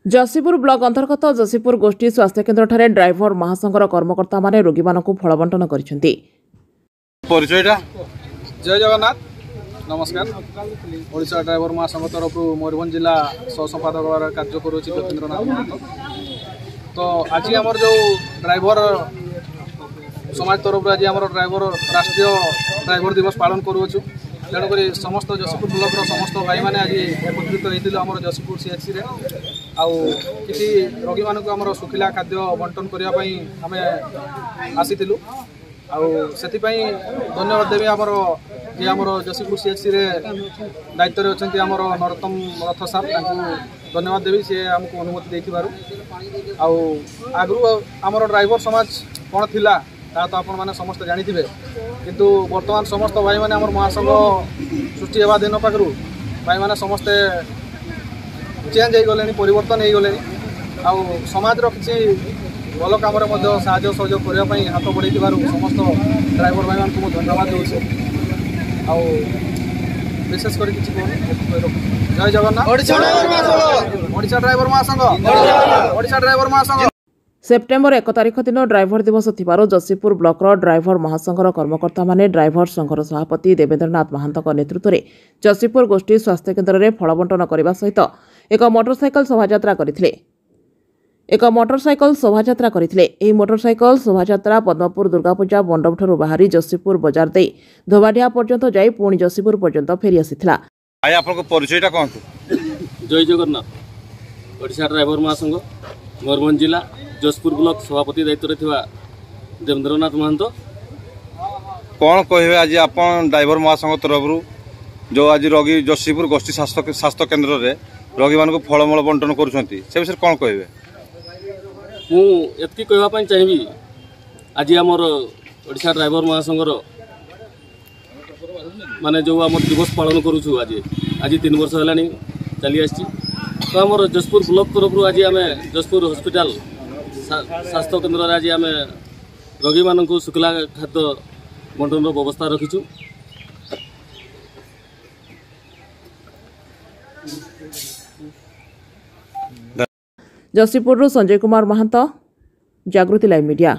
Jashipur block ଅନ୍ତର୍ଗତ ଯଶୀପୁର ଗୋଷ୍ଠୀ ସ୍ୱାସ୍ଥ୍ୟକେନ୍ଦ୍ରଠାରେ driver ମହାସଂଘର କର୍ମକର୍ତ୍ତାମାନେ ରୋଗୀମାନଙ୍କୁ ଫଳ ବଣ୍ଟନ କରିଛନ୍ତି। ପରିଚୟଟା? ଜୟ ଜଗନ୍ନାଥ, ନମସ୍କାର। ଓଡ଼ିଶା ଡ୍ରାଇଭର ମହାସଂଘ ତରଫରୁ ମୟୂରଭଞ୍ଜ ଜିଲ୍ଲା ସହ ସମ୍ପାଦକ ଭାବରେ କାର୍ଯ୍ୟ କରୁଅଛି ଯତୀନ୍ଦ୍ରନାଥ ମହାନ୍ତ। ତ ଆଜି ଆମର ଯେଉଁ ଡ୍ରାଇଭର ସମାଜ ତରଫରୁ ଆଜି ଆମର ଡ୍ରାଇଭର ରାଷ୍ଟ୍ରୀୟ ଡ୍ରାଇଭର ଦିବସ ପାଳନ କରୁଅଛୁ। ତେଣୁକରି ସମସ୍ତ ଯଶୀପୁର ବ୍ଲକର ସମସ୍ତ ଭାଇମାନେ ଆଜି ଏକତ୍ରିତ ହେଇଥିଲୁ ଆମର ଯଶୀପୁର ସିଏଚସିରେ। ଆଉ କିଛି ରୋଗୀମାନଙ୍କୁ ଆମର ଶୁଖିଲା ଖାଦ୍ୟ ବଣ୍ଟନ କରିବା ପାଇଁ ଆମେ ଆସିଥିଲୁ। ଆଉ ସେଥିପାଇଁ ଧନ୍ୟବାଦ ଦେବି ଆମର ଯିଏ ଆମର ଯଶୀପୁର ସିଏଚସିରେ ଦାୟିତ୍ୱରେ ଅଛନ୍ତି ଆମର ନରୋତ୍ତମ ରଥ ସାର୍, ତାଙ୍କୁ ଧନ୍ୟବାଦ ଦେବି ସିଏ ଆମକୁ ଅନୁମତି ଦେଇଥିବାରୁ। ଆଉ ଆଗରୁ ଆମର ଡ୍ରାଇଭର ସମାଜ କ'ଣ ଥିଲା ତାହା ତ ଆପଣମାନେ ସମସ୍ତେ ଜାଣିଥିବେ, କିନ୍ତୁ ବର୍ତ୍ତମାନ ସମସ୍ତ ଭାଇମାନେ ଆମର ମହାସଂଘ ସୃଷ୍ଟି ହେବା ଦିନ ପାଖରୁ ଭାଇମାନେ ସମସ୍ତେ ଚେଞ୍ଜ ହେଇଗଲେଣି, ପରିବର୍ତ୍ତନ ହେଇଗଲେଣି। ଆଉ ସମାଜର କିଛି ଭଲ କାମରେ ମଧ୍ୟ ସାହାଯ୍ୟ ସହଯୋଗ କରିବା ପାଇଁ ହାତ ବଢ଼େଇଥିବାରୁ ସମସ୍ତ ଡ୍ରାଇଭର ଭାଇମାନଙ୍କୁ ମୁଁ ଧନ୍ୟବାଦ ଦେଉଛି। ଆଉ ବିଶେଷ କରି କିଛି କହୁନି, ରଖୁଛି। ଜୟ ଜଗନ୍ନାଥ। ଓଡ଼ିଶା ଡ୍ରାଇଭର ମହାସଂଘ, ଓଡ଼ିଶା ଡ୍ରାଇଭର ମହାସଂଘ। ସେପ୍ଟେମ୍ବର 1 ତାରିଖ ଦିନ ଡ୍ରାଇଭର ଦିବସ ଥିବାରୁ ଯଶୀପୁର ବ୍ଲକର ଡ୍ରାଇଭର ମହାସଂଘର କର୍ମକର୍ତ୍ତାମାନେ ଡ୍ରାଇଭର ସଂଘର ସଭାପତି ଦେବେନ୍ଦ୍ରନାଥ ମହାନ୍ତଙ୍କ ନେତୃତ୍ୱରେ ଯଶୀପୁର ଗୋଷ୍ଠୀ ସ୍ୱାସ୍ଥ୍ୟକେନ୍ଦ୍ରରେ ଫଳ ବଣ୍ଟନ କରିବା ସହିତ ଏକ ମୋଟରସାଇକେଲ ଶୋଭାଯାତ୍ରା କରିଥିଲେ। ଏକ ମୋଟରସାଇକେଲ ଶୋଭାଯାତ୍ରା କରିଥିଲେ। ଏହି ମୋଟରସାଇକେଲ ଶୋଭାଯାତ୍ରା ପଦ୍ମପୁର ଦୁର୍ଗାପୂଜା ମଣ୍ଡପଠାରୁ ବାହାରି ଯଶୀପୁର ବଜାର ଦେଇ ଧୋବାଡିଆ ପର୍ଯ୍ୟନ୍ତ ଯାଇ ପୁଣି ଯଶୀପୁର ପର୍ଯ୍ୟନ୍ତ ଫେରି ଆସିଥିଲା। ଭାଇ, ଆପଣଙ୍କ ପରିଚୟଟା କୁହନ୍ତୁ। ଜୟ ଜଗନ୍ନାଥ। ଓଡ଼ିଶା ଡ୍ରାଇଭର ମହାସଂଘ ମୟୂରଭଞ୍ଜ ଜିଲ୍ଲା ଯଶପୁର ବ୍ଲକ ସଭାପତି ଦାୟିତ୍ୱରେ ଥିବା ଦେବେନ୍ଦ୍ରନାଥ ମହାନ୍ତ। କ'ଣ କହିବେ, ଆଜି ଆପଣ ଡ୍ରାଇଭର ମହାସଂଘ ତରଫରୁ ଯେଉଁ ଆଜି ରୋଗୀ ଯଶୀପୁର ଗୋଷ୍ଠୀ ସ୍ୱାସ୍ଥ୍ୟ କେନ୍ଦ୍ରରେ ରୋଗୀମାନଙ୍କୁ ଫଳମୂଳ ବଣ୍ଟନ କରୁଛନ୍ତି, ସେ ବିଷୟରେ କ'ଣ କହିବେ? ମୁଁ ଏତିକି କହିବା ପାଇଁ ଚାହିଁବି, ଆଜି ଆମର ଓଡ଼ିଶା ଡ୍ରାଇଭର ମହାସଂଘର ମାନେ ଯେଉଁ ଆମର ଦିବସ ପାଳନ କରୁଛୁ ଆଜି, ଆଜି 3 ବର୍ଷ ହେଲାଣି ଚାଲି ଆସିଛି। ତ ଆମର ଯଶପୁର ବ୍ଲକ ତରଫରୁ ଆଜି ଆମେ ଯଶପୁର ହସ୍ପିଟାଲ ସ୍ୱାସ୍ଥ୍ୟ କେନ୍ଦ୍ରରେ ଆଜି ଆମେ ରୋଗୀମାନଙ୍କୁ ଶୁଖିଲା ଖାଦ୍ୟ ବଣ୍ଟନର ବ୍ୟବସ୍ଥା ରଖିଛୁ। ଯଶୀପୁରରୁ ସଞ୍ଜୟ କୁମାର ମହାନ୍ତ, ଜାଗୃତି ଲାଇଭ୍ ମିଡିଆ।